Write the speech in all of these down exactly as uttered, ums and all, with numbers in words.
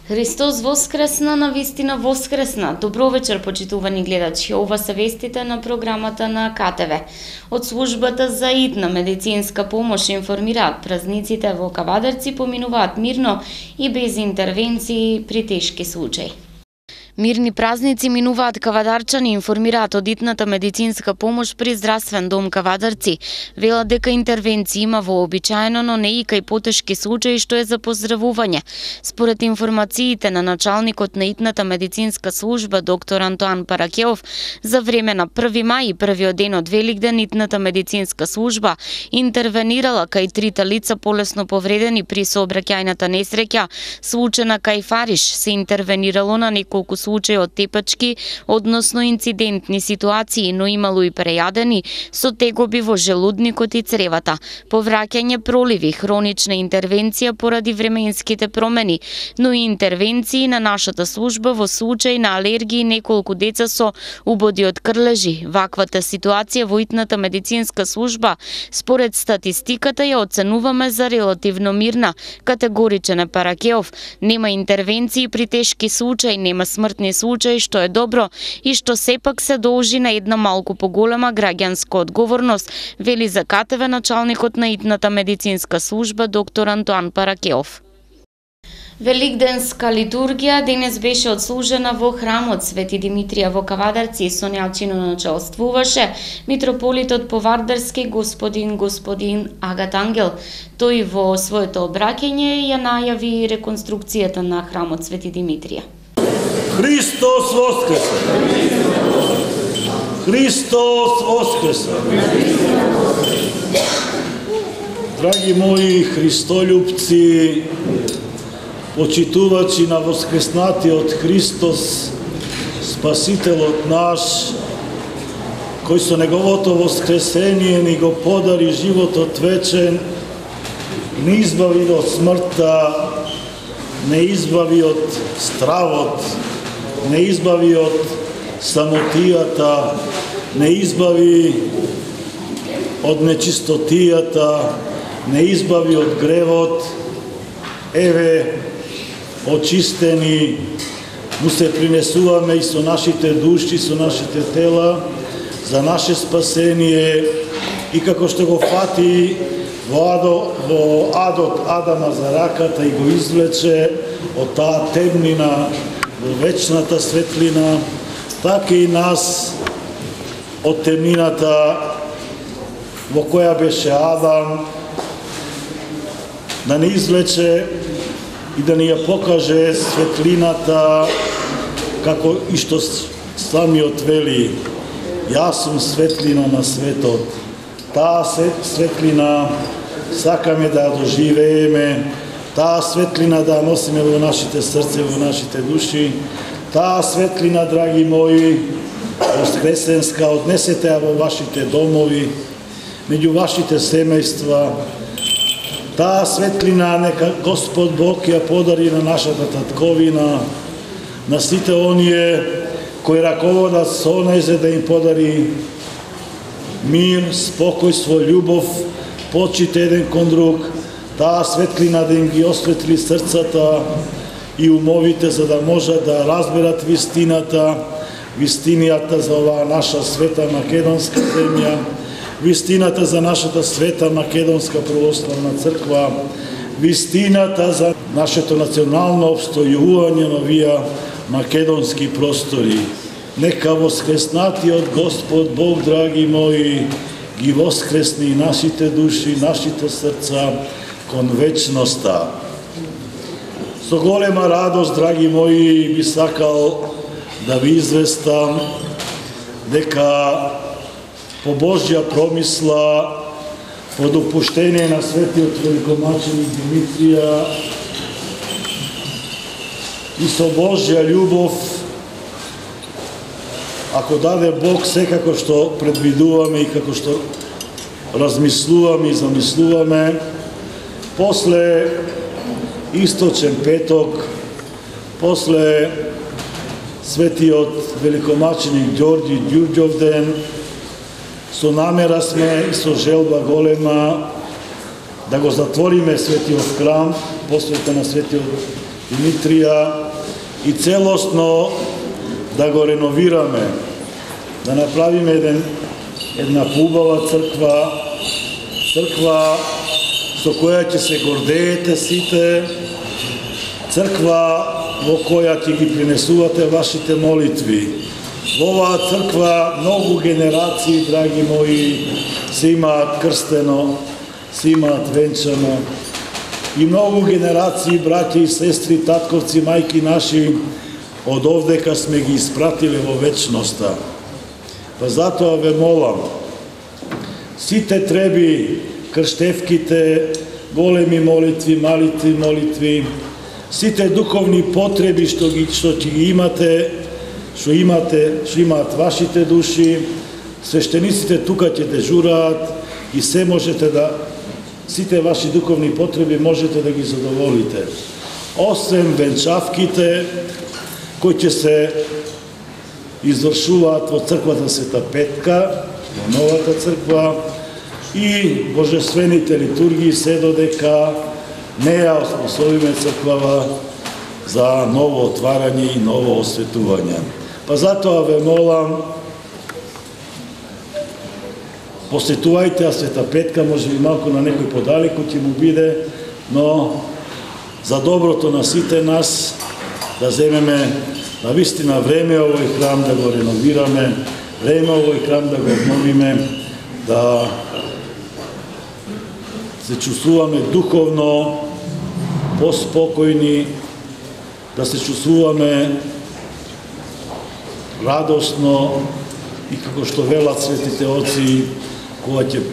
Христос воскресна, навистина воскресна. Добро вечер, почитувани гледачи. Ова се вестите на програмата на К Т В. Од службата за итна медицинска помош информираат празниците во Кавадарци поминуваат мирно и без интервенции при тешки случаи. Мирни празници минуваат кавадарчани, информираат од итната медицинска помош при здравствен дом Кавадарци. Велат дека интервенции има вообичаено, но не и кај потешки случаи, што е за поздравување. Според информациите на началникот на итната медицинска служба доктор Антоан Паракелов, за време на први мај и првиот ден од Великден итната медицинска служба интервенирала кај трите лица полесно повредени при сообраќајната несреќа, случена кај Фариш. Се интервенирало на неколку случаи од тепачки, односно инцидентни ситуации, но имало и прејадени со тегоби во желудникот и цревата, повраќање проливи, хронична интервенција поради временските промени, но и интервенции на нашата служба во случај на алергии неколку деца со убоди од крлежи. Ваквата ситуација во итната медицинска служба, според статистиката, ја оценуваме за релативно мирна. Категоричен е Паракелов. Нема интервенции при тешки случаи, нема смртни случаи, што е добро и што сепак се должи на една малку поголема граѓанска одговорност, вели за К Т В началникот на итната медицинска служба доктор Антоан Паракелов. Великденска литургија денес беше отслужена во храмот Свети Димитрија во Кавадарци. Со нејачино началствуваше митрополитот Повардарски господин господин Агат Ангел. Тој во своето обраќање ја најави реконструкцијата на храмот Свети Димитрија. Христос воскресе! Христос воскресе! Драги мои христолюбци, почитувачи на воскреснатиот Христос, Спасителот наш, кој со неговото воскресение ни го подари животот вечен, не избави од смртта, не избави од стравот, не избави од самотијата, не избави од нечистотијата, не избави од гревот. Еве, очистени, му се принесуваме и со нашите души, со нашите тела, за наше спасение, и како што го фати во, адо, во адот Адама за раката и го извлече од таа темнина во вечната светлина, така и нас од темнината во која беше Адам, да не извлече и да ни ја покаже светлината, како и што самиот вели: јас сум светлина на светот. Таа светлина сакаме да ја доживееме, таа светлина да ја носиме во нашите срце, во нашите души. Таа светлина, драги мои, воскресенска, однесете ја во вашите домови, меѓу вашите семејства. Таа светлина нека Господ Бог ја подари на нашата татковина, на сите оние кои раководат со неј за да им подари мир, спокојство, љубов, почит еден кон друг. Таа светлина да им ги осветли срцата и умовите, за да можат да разберат вистината, вистинијата за оваа наша света македонска земја, вистината за нашата света македонска православна црква, вистината за нашето национално обстојување на овие македонски простори. Нека воскреснатиот Господ Бог, драги мои, ги воскресни нашите души, нашите срца кон вечноста. Со голема радост, драги мои, би сакал да ви известам дека по Божја промисла, по допуштение на светиот великомаченик Димитрија и со Божја љубов, ако даде Бог, секако што предвидуваме и како што размислуваме и замислуваме, после Источен петок, после светиот великомаченик Ѓорѓи Ѓурѓовден, со намера сме и со желба голема да го затвориме светиот храм, посветен на светиот Димитрија и целосно да го реновираме, да направиме еден, една убава црква, црква со која ќе се гордеете сите, црква во која ќе ги принесувате вашите молитви. Во оваа црква многу генерации, драги мои, се имаат крстено, се имаат венчано, и многу генерации, браќа и сестри, татковци, мајки наши, од овдека сме ги испратиле во вечноста. Па затоа ве молам, сите треби, крштевките, големи молитви, малите молитви, сите духовни потреби што ги што ќе ги имате, што имате, што имаат вашите души, свештениците тука ќе дежураат и се можете да сите ваши духовни потреби можете да ги задоволите. Освен венчавките кои ќе се извршуваат во црквата Света Петка, во новата црква, и божествените литургии, се додека не ја освоиме црквава за ново отварање и ново осветување. Па затоа ве молам, посетувајте Света Петка, може би малку на некој подалеку ќе му биде, но за доброто на сите нас да земеме на вистина време овој храм да го реновираме, време овој храм да го обновиме, да се чувствуваме духовно поспокојни, да се чувствуваме радосно и како што велат светите оци, кога ќе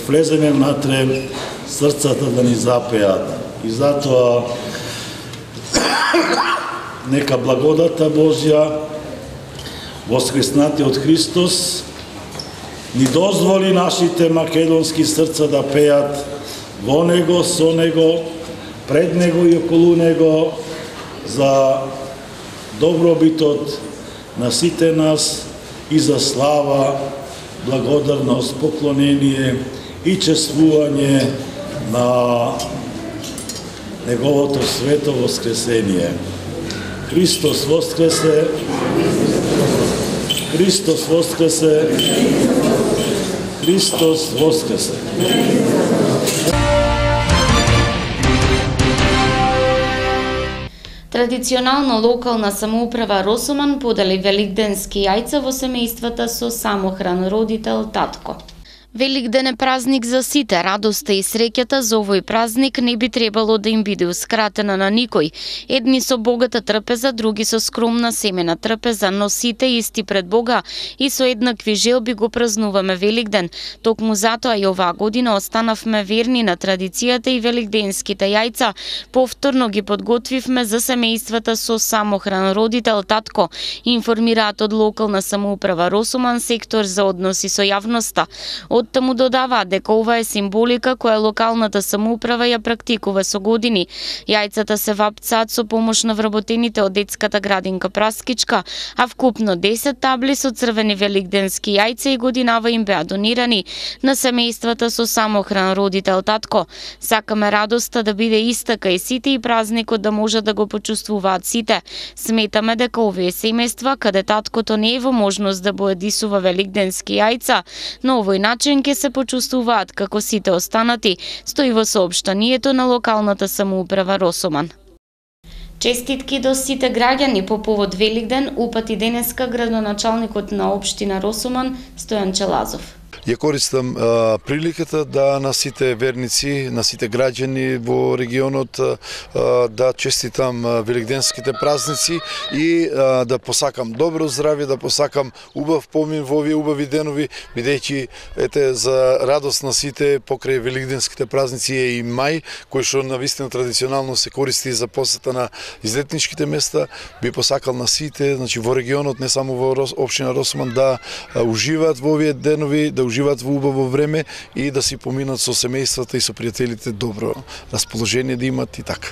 влеземе внатре, срцата да ни запеат. И затоа нека благодата Божја, воскреснатиот Христос, ни дозволи нашите македонски срца да пеат во Него, со Него, пред Него и околу Него, за добробитот на сите нас и за слава, благодарност, поклонение и чествување на Неговото свето воскресение. Христос воскресе, Христос воскресе, Христос воскресе. Традиционално локална самоуправа Росоман подели великденски јајца во семејствата со самохран родител татко. Великден е празник за сите, радоста и среќата за овој празник не би требало да им бидеускратена на никој. Едни со богата трпеза, други со скромна семена трпеза, но сите исти пред Бога и со еднакви желби го празнуваме Великден. Токму затоа и оваа година останавме верни на традицијата и великденските јајца. Повторно ги подготвивме за семејствата со самохран родител татко, информираат од локална самоуправа Росоман, сектор за односи со јавноста. Од таму додаваат дека ова е символика која локалната самоуправа ја практикува со години. Јајцата се вапцаат со помош на вработените од детската градинка Праскичка, а вкупно десет табли со црвени великденски јајца и годинава им беа донирани на семејствата со самохран родител татко. Сакаме радоста да биде иста кај сите и празникот да може да го почувствуваат сите. Сметаме дека овие семејства каде таткото не е во можност да боедисува великденски јајца, на овој начин ќе се почувствуваат како сите останати, стои во соопштанието на локалната самоуправа Росоман. Честитки до сите граѓани по повод Великден упати денеска градоначалникот на општина Росоман Стојан Челазов. Ја користам а, приликата да на сите верници, на сите граѓани во регионот а, да честитам великденските празници и а, да посакам добро здравје, да посакам убав помин во овие убави денови, бидејќи ете за радост на сите покрај великденските празници е и мај, кој што навистина традиционално се користи за посета на излетничките места. Би посакал на сите, значи во регионот, не само во Рос, општина Росоман, да а, уживаат во овие денови, да уживаат во убаво време и да си поминат со семејствата и со пријателите добро расположение да имат и така.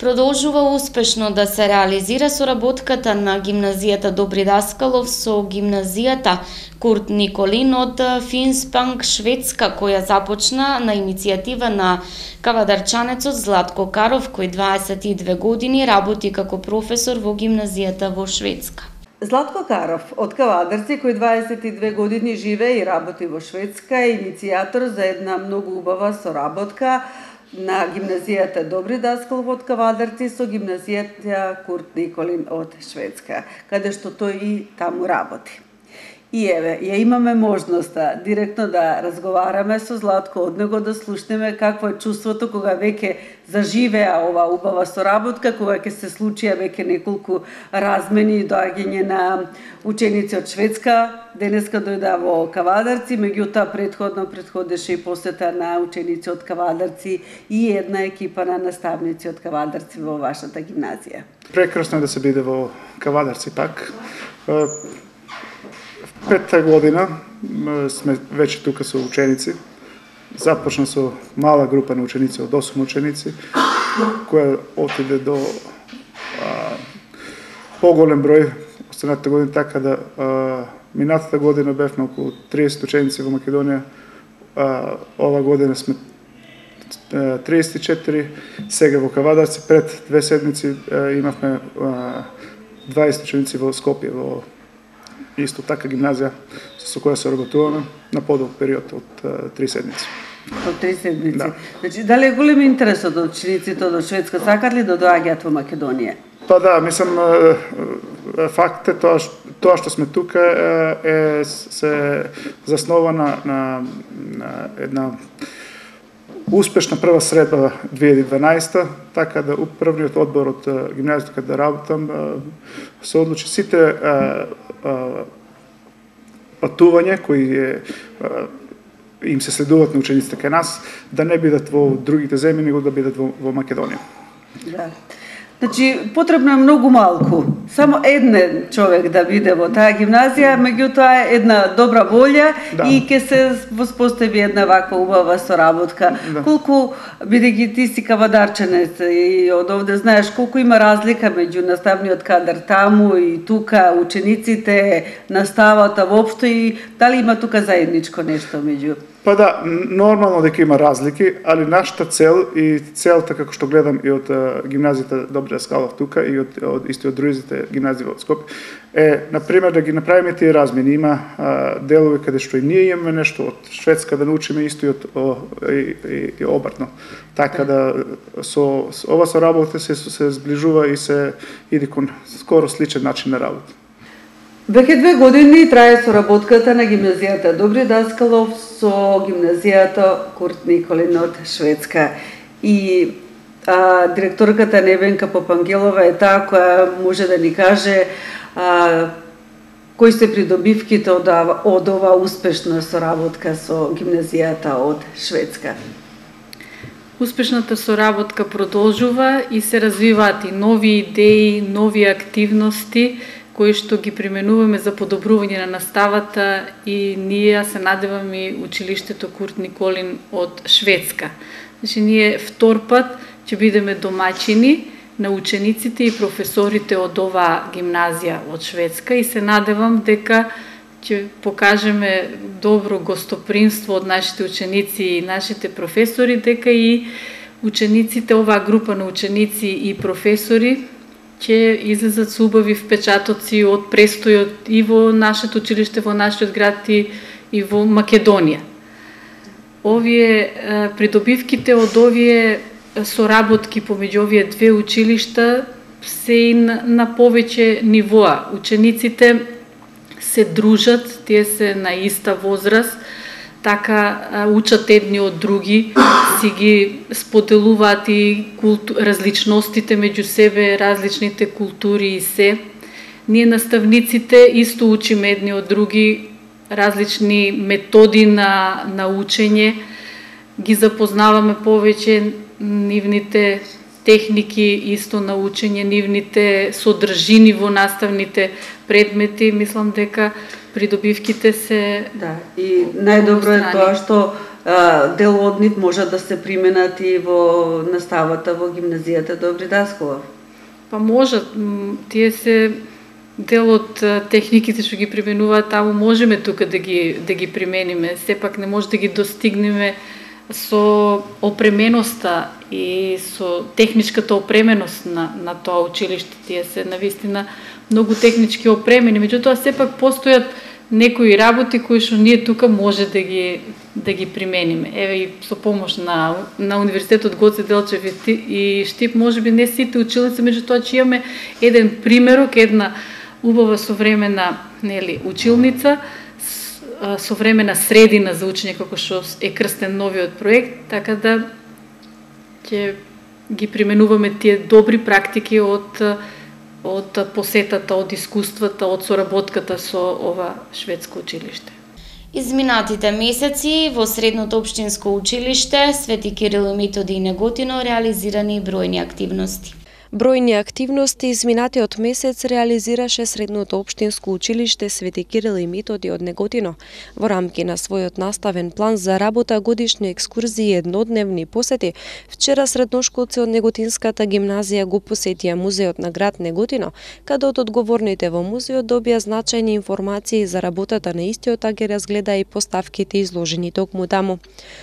Продолжува успешно да се реализира соработката на гимназијата Добри Даскалов со гимназијата Курт Николин од Финспанг, Шведска, која започна на иницијатива на кавадарчанецот Златко Каров, кој дваесет и две години работи како професор во гимназијата во Шведска. Златко Каров од Кавадарци, кој дваесет и две години живее и работи во Шведска, е иницијатор за една многу убава соработка на гимназијата Добри Даскалов од Кавадарци со гимназијата Курт Николин од Шведска, каде што тој и таму работи. И еве, ја имаме можноста директно да разговараме со Златко, од него да слушнеме какво е чувството кога веќе заживеа ова убава соработка, кога ќе се случија веќе неколку размени и доаѓање на ученици од Шведска. Денеска дојда во Кавадарци, меѓутоа предходно предходеше и посета на ученици од Кавадарци и една екипа на наставници од Кавадарци во вашата гимназија. Прекрасно е да се биде во Кавадарци пак. Петта година сме веќе тука со ученици. Започна со мала група на ученици, од осум ученици, која отиде до а, поголем број останатите години, така да а, минатата година бевме околу триесет ученици во Македонија, а, ова година сме а, триесет и четири, сега во Кавадарци, пред две седмици а, имавме а, дваесет ученици во Скопје, во исто така гимназија со која се работуваме на подолг период од uh, три седмици. Од три седмици. Да. Значи, дали е голем интересот од учениците од Шведска, сакат ли да доаѓаат во Македонија? Па да, мислам, факт е тоа, тоа што сме тука е се заснова на, на, на една успешна прва средба две илјади и дванаесета, така да управниот одбор од гимназијата каде да работам се одлучи сите а, а, патувања кои е, а, им се следуваат на учениците кај нас, да не бидат во другите земји, него да бидат во, во Македонија. Да. Значи, потребно е многу малку. Само еден човек да биде во таа гимназија, меѓутоа една добра волја, да, и ќе се воспостави една ваква убава соработка. Да. Колку, бидејќи ти си кавадарчанец и од овде знаеш колку има разлика меѓу наставниот кадар таму и тука, учениците, наставата воопшто, и дали има тука заедничко нешто меѓу? Па да, нормално дека има разлики, али нашата цел и целта како што гледам и од гимназијата Добри Даскалов тука и од, од исти од другите гимназии во Скопје е, например, да ги направиме тие размени. Има а, делови каде што и ние имаме нешто од Шведска да научиме исто и од о, и, и, и обратно. Така да со, со ова соработа се се зближува и се иде кон скоро сличен начин на работа. Веќе две години трае соработката на гимназијата Добри Даскалов со гимназијата Курт Николин од Шведска. И а, директорката Невенка Попангелова е таа која може да ни каже а, кои се придобивките од, од ова успешна соработка со гимназијата од Шведска. Успешната соработка продолжува и се развиваат и нови идеи, нови активности кои што ги применуваме за подобрување на наставата, и ние се надеваме и училиштето Курт Николин од Шведска. Значи, ние втор пат ќе бидеме домаќини на учениците и професорите од оваа гимназија од Шведска, и се надевам дека ќе покажеме добро гостопримство од нашите ученици и нашите професори, дека и учениците, оваа група на ученици и професори ќе излезат со убави впечатоци од престојот и во нашето училиште, во нашиот град и, и во Македонија. Овие придобивките од овие соработки помеѓу овие две училишта се и на, на повеќе нивоа. Учениците се дружат, тие се на иста возраст, така учат едни од други, си ги споделуваат и култу... различностите меѓу себе, различните култури и се. Ние наставниците исто учиме едни од други, различни методи на, на учење, ги запознаваме повеќе, нивните техники исто на учење, нивните содржини во наставните предмети. Мислам дека придобивките се... Да, и најдобро е тоа што дел од нив може да се применат и во наставата во гимназијата Добри Даскалов? Па можат, тие се дел од техниките што ги применуваат таму, можеме тука да ги да ги примениме. Сепак не може да ги достигнеме со опременоста и со техничката опременост на на тоа училиште. Тие се навистина многу технички опремени, меѓутоа сепак постојат некои работи кои што ние тука може да ги да ги примениме. Еве и со помош на на Универзитетот Гоце Делчев и Штип, можеби не сите училници, меѓутоа че имаме еден примерок, една убава современа, нели, училница, современа средина за учење, како што е крстен новиот проект, така да ќе ги применуваме тие добри практики од од посетата, од искуствата, од соработката со ова шведско училиште. Изминатите месеци во Средното општинско училиште Свети Кирил и Методи Неготино реализирани бројни активности. Бројни активности изминатиот месец реализираше Средното општинско училиште Свети Кирил и Методи од Неготино. Во рамки на својот наставен план за работа, годишни екскурзии и еднодневни посети, вчера средношколци од Неготинската гимназија го посетија музеот на град Неготино, каде од одговорните во музеот добија значајни информации за работата на истиот, а ги разгледа и поставките изложени токму таму.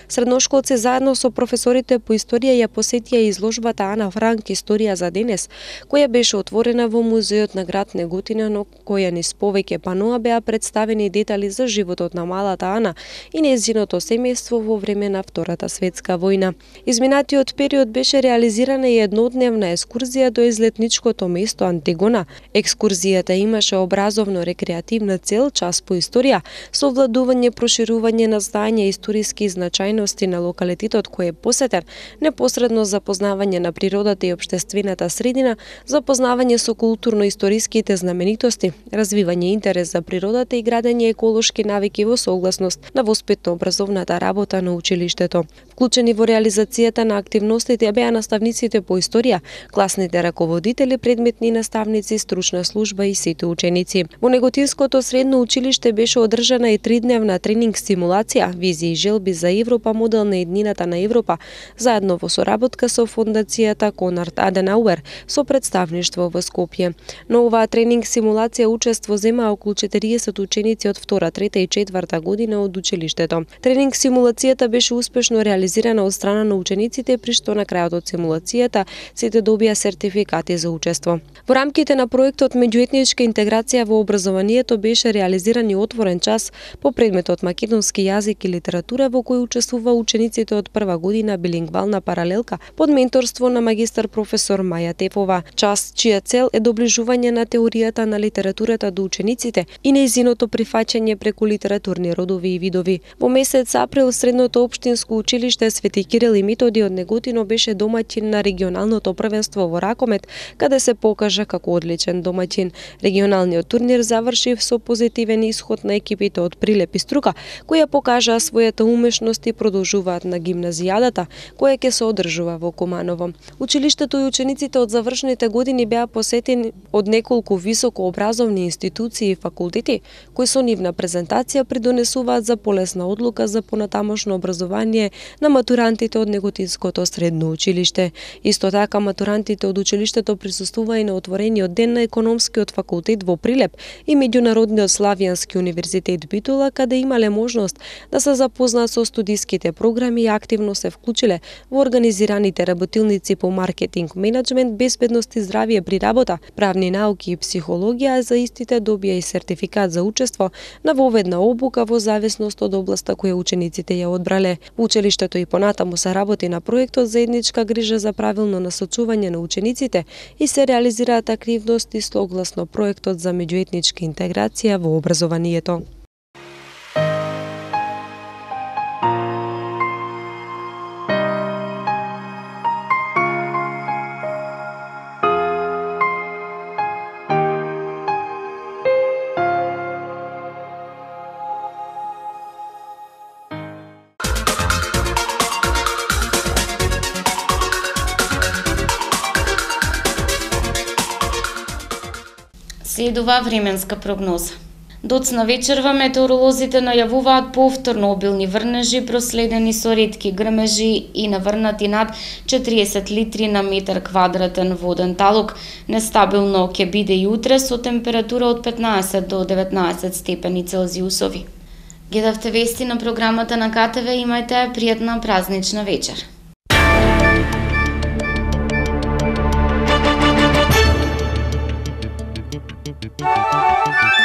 Средношколци заедно со професорите по историја ја посетија изложбата Ана Франк Историја за денес, која беше отворена во музеот на град Неготино, но која низ повеќе паноа беа представени детали за животот на малата Ана и нејзиното семејство во време на Втората светска војна. Изминатиот период беше реализирана и еднодневна екскурзија до излетничкото место Антигона. Екскурзијата имаше образовно-рекреативна цел, час по историја, со овладување, проширување на знаење и историски значајности на локалитетот кој е посетен, непосредно запознавање на природата и општествената средина, запознавање со културно-историските знаменитости, развивање интерес за природата и градење еколошки навики во согласност на воспитно-образовната работа на училиштето. Вклучени во реализацијата на активностите беа наставниците по историја, класните раководители, предметни наставници, стручна служба и сите ученици. Во Неготинското средно училиште беше одржана и тридневна тренинг симулација, визии и желби за Европа, модел на еднината на Европа, заедно во соработка со фондацијата Конрад Аденауер со представништво во Скопје. Но оваа тренинг симулација учество земаа околу четириесет ученици од втора, трета и четврта година од училиштето. Тренинг симулацијата беше успешно реализирана од страна на учениците, при што на крајот од симулацијата сите добија сертификати за учество. Во рамките на проектот Меѓуетничка интеграција во образованието беше реализиран и отворен час по предметот македонски јазик и литература, во кој учествува учениците од прва година билингвална паралелка под менторство на магистар професор Маја Тефова, час чија цел е доближување на теоријата на литературата до учениците и нејзиното прифаќање преку литературни родови и видови. Во месец април Средното општинско училиште Свети Кирил и Методи од Неготино беше домаќин на регионалното првенство во ракомет, каде се покажа како одличен домаќин. Регионалниот турнир заврши со позитивен исход на екипите од Прилеп и Струка, која покажаа својата умешност и продолжуваат на гимназијадата, која ќе се одржува во Куманово. Училиштето и учениците од завршните години беа посетени од неколку високообразовни институции и факултети, кои со нивна презентација придонесуваат за полесна одлука за понатамошно образование на матурантите од Неготинското средно училиште. Исто така матурантите од училиштето присуствува и на отворениот ден на економскиот факултет во Прилеп и меѓународниот Славијански универзитет Битола, каде имале можност да се запознаат со студиските програми и активно се вклучиле во организираните работилници по маркетинг, менеджмент, безбедност и здравје при работа, правни науки и психологија, за истите добија и сертификат за учество на воведна обука во зависност од областа која учениците ја одбрале. Во училиштето и понатаму се работи на проектот заедничка грижа за правилно насочување на учениците и се реализираат активности согласно проектот за меѓуетничка интеграција во образованието. Следува временска прогноза. Доцна вечерва метеоролозите најавуваат повторно обилни врнежи, проследени со ретки грмежи и наврнати над четириесет литри на метар квадратен воден талок. Нестабилно ќе биде и утре со температура од петнаесет до деветнаесет степени Целзиусови. Гледавте вести на програмата на КТВ, имајте пријатна празнична вечер. Thank you.